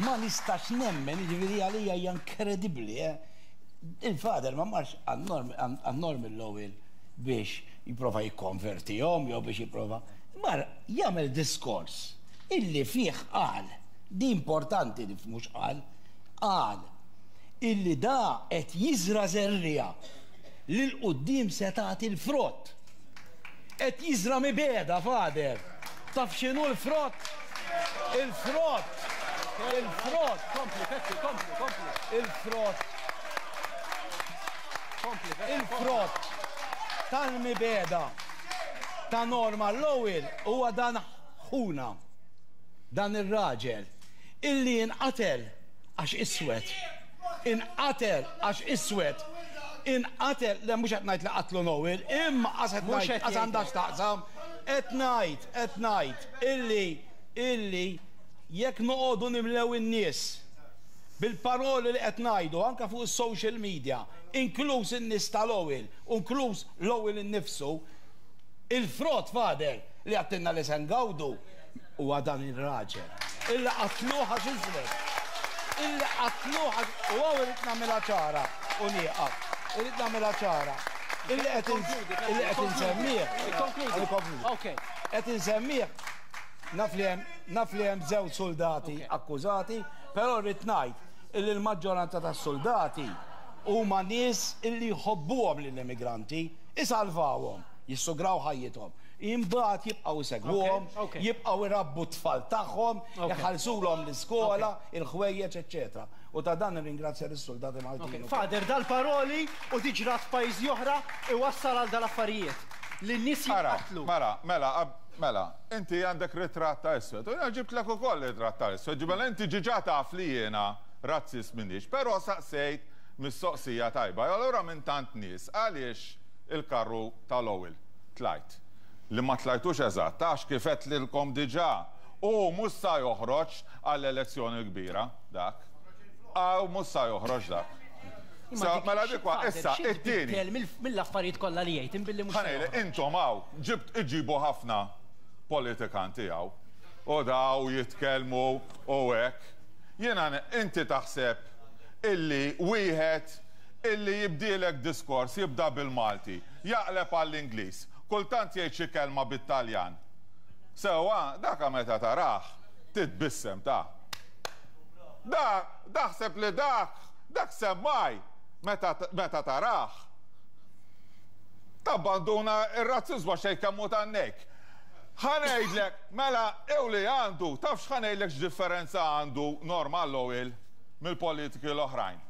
Ma nistax nemmen, jiġifieri għalija hija inkredibbli, eh. Il-father ma marx għand Norman Lowell biex jipprova jikkonvertihom jew biex jipprova. Mar jagħmel diskors illi fih qal, di importanti nifhmu x'qal, qal illi da qed jiżra' żerriegħa li 'l quddiem se tagħti l-frott. Qed jiżra' mibegħda, Father. Taf x'inhu l-frott? Il-frott! Il-frott! Kompli, Peppi, kompli, kompli. Il-frott. Kompli, Peppi. Il-frott tal-mibegħda ta' Norman Lowell huwa dan ħuna, dan ir-raġel, illi inqatel għax iswed. Inqatel għax iswed. Inqatel, le mhux qed ngħid li qatlu Noel, imma qas qed ngħid, qas għandha x'taqsam. Qed ngħid, qed ngħid illi, illi jekk noqogħdu nimlew in-nies bil-paroli li qed ngħidu anke fuq is-social media, inkluż in-nies ta' Lowell u inkluż Lowell innifsu, il-frott, Father, li għedtilna li se ngawdu huwa dan ir-raġel. Illi qatluh għax iswed. Illi qatluh għax, u hawn irrid nagħmilha ċara u nieqaf. Irrid nagħmilha ċara. Illi qed illi qed insemmih. Ikkonkludi. Qed insemmih naf li hemm naf li hemm żewġ suldati akkużati, però rrid ngħid illi l-maġġoranza tas-suldati huma nies illi jħobbuhom lill-immigranti, isalvawhom, jissugraw ħajjithom. Imbagħad jibqgħu jsegwuhom, jibqgħu jrabbu t-tfal tagħhom, iħallsulhom l-iskola, il-ħwejjeġ, eċċetera. U ta' dan nirringrazzja lis-suldati Maltin ukoll. Father, dal-paroli u di ġrat f'pajjiżi oħra iwassal għal dal-affarijiet. Li n-nies jinqatlu. Ara, mela, mela, mela, inti għandek ritratt ta' iswed u jiena ġibtlek ukoll ritratt ta' iswed, mela inti ġiġa taf li jiena razzist m'iniex, però saqsejt mistoqsija tajba. Allura minn tant nies għaliex il-karru ta' Lowell tlajt? Li ma tlajtux eżatt għax kif għedtlilkom diġà, hu mhux sa joħroġ għall-elezzjoni l-kbira dak. Hawn mhux sa joħroġ dak. Imma dik Mela dik wa, Father, issa, xi it-tieni. tbiddel mill-affarijiet kollha li jgħid imbilli mhux Ħa sa ngħidlek, joħroġ. intom hawn ġibt iġibu ħafna politikanti hawn u daw jitkellmu u hekk. Jiena inti taħseb illi wieħed illi jibdielek diskors jibda bil-Malti, jaqleb għall-Ingliż, kultant jgħid xi kelma bit-Taljan. Sewwa, daka meta tarah, titbissem ta. Da, daħseb li dak, dak semmaj meta, meta tarah. Tabbanduna r-razziżmu għax tgħid kemm hu tan-nejk. Ħa ngħidlek, mela, ew li għandu, taf x'ħa ngħidlek x'differenza għandu Norman Lowell mill-politiki l-oħrajn.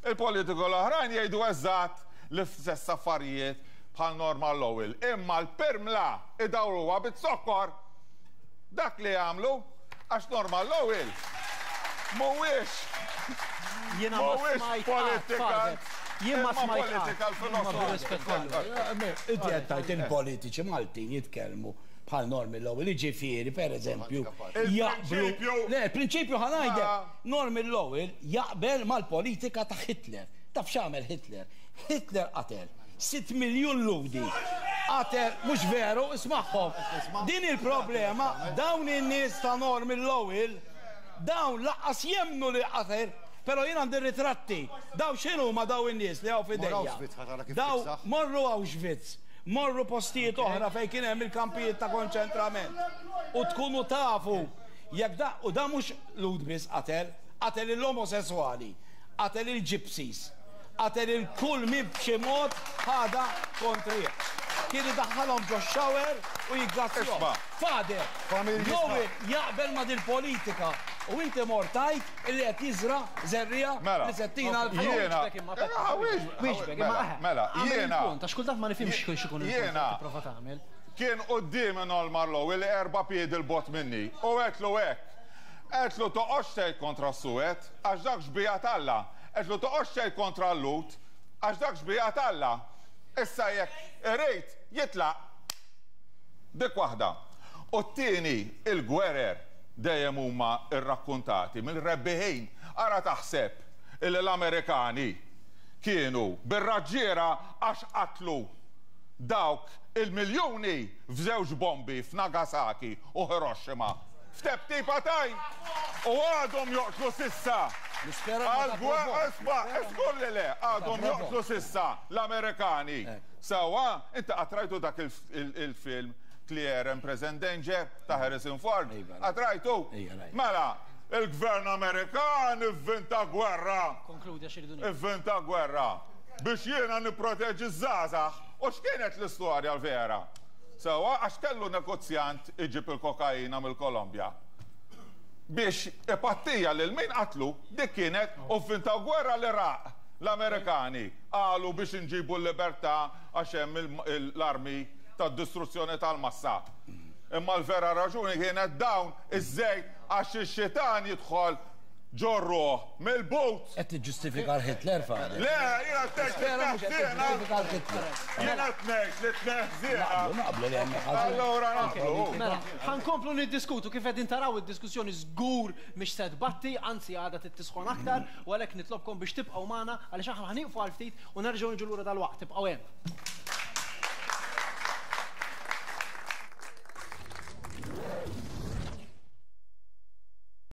Il-politiki l-oħrajn jgħidu eżatt l-istess affarijiet bħal Norman Lowell, imma l-pirmla idawruha biz-zokkor. Dak li jagħmlu, għax Norman Lowell mhuwiex Jiena ma mhuwiex smajt qatt, politikant, Father. Jien ma imma smajt qatt. political Imma bir-rispett philosopher. kollu. Inti qed tgħid il-politiċi Maltin jitkellmu bħal Norman Lowell, jiġifieri, pereżempju, jaqblu. Il-prinċipju. Le, il-prinċipju ħa ngħidlek. Norman Lowell jaqbel mal-politika ta' Hitler. Taf x'għamel Hitler? Hitler qatel 6 miljun Lhudi. Qatel, mhux veru, ismagħhom. Din il-problema, dawn in-nies ta' Norman Lowell, dawn lanqas jemmnu li qatel, però jien għandi r-ritratti. Dawn x'inhuma dawn in-nies li hawn f'idejja? Dawn morru Auschwitz, morru postijiet oħra fejn kien hemm il-kampijiet ta' konċentrament u tkunu tafu jekk da, u da mhux Lhud biss qatel, qatel il-omosesswali, qatel il-gypsies, qatel il kull min b'xi mod ħadha kontrih. Kien idaħħalhom ġo shower u jiggassjhom. Isma'. Father, Noel jaqbel ma' dil-politika u inti mort tgħid illi qed jiżra' żerriegħa Mela, li se ttina l-frott. jiena. Wieġbek imma, Peppi. Wieġbek imma, eħe. Mela, Agħmel jiena. il-punt, għax kultant ma nifhimx x'ikun il-punt li qed tipprova tagħmel. Kien quddiemi Norman Lowell erba' piedi 'l bogħod minni u għedtlu hekk. Għedtlu toqgħodx tgħid kontra s-suwed, għax dak xbieha t'Alla. Għedtlu toqgħodx tgħid kontra l-Lhud, għax dak xbieha t'Alla. Issa jekk irid, jitlaq. Dik waħda. U t-tieni, il-gwerer dejjem huma rrakkuntati mill-rebbiħin. Ara taħseb illi l-Amerikani kienu bir-raġġiera għax qatlu dawk il-miljuni f'żewġ bombi f'Nagasaki u Hiroshima. F'teptipa t'għajn! U għadhom joqtlu s'issa! Nispera ma Għall-gwerra, isma', żgur li le, għadhom joqtlu s'issa l-Amerikani. Sewwa, inti qatt rajtu dak il-film Clear and Present Danger ta' Harrison Ford? Qatt rajtu? Mela, il-gvern Amerikan ivvinta gwerra. Konkludi għax irridu nieqfu. Ivvinta gwerra biex jiena nipproteġi ż-żgħażagħ. U x'kienet l-istorja l-vera? Sewwa, għax kellu negozjant iġib il-kokaina mill-Kolombja biex ipattija lil min qatlu, dik kienet u vvintaw gwerra l-Iraq l-Amerikani qalu biex inġibu l-libertà għax hemm l-armi tad-distruzzjoni tal-massa. Imma l-vera raġuni kienet dawn iż-żejt għax ix-xitan jidħol ġor-ruħ mill-but. Qed tiġġustifika l-Hitler, Father? Le, jiena qed ngħid li Nispera mhux qed tneħħ żiena. tiġġustifika l-Hitler. Jiena qed ngħid li tneħħ żiena. Naqblu, naqblu li hemm ħażin. Allura naqblu. Mela, ħa nkomplu niddiskutu kif qegħdin taraw id-diskussjoni żgur mhix se tbatti, anzi għadha trid tisħon aktar, u għalhekk nitlobkom biex tibqgħu magħna għaliex aħna ħa nieqfu għal ftit u nerġgħu niġu lura dalwaqt. Ibqgħu hemm.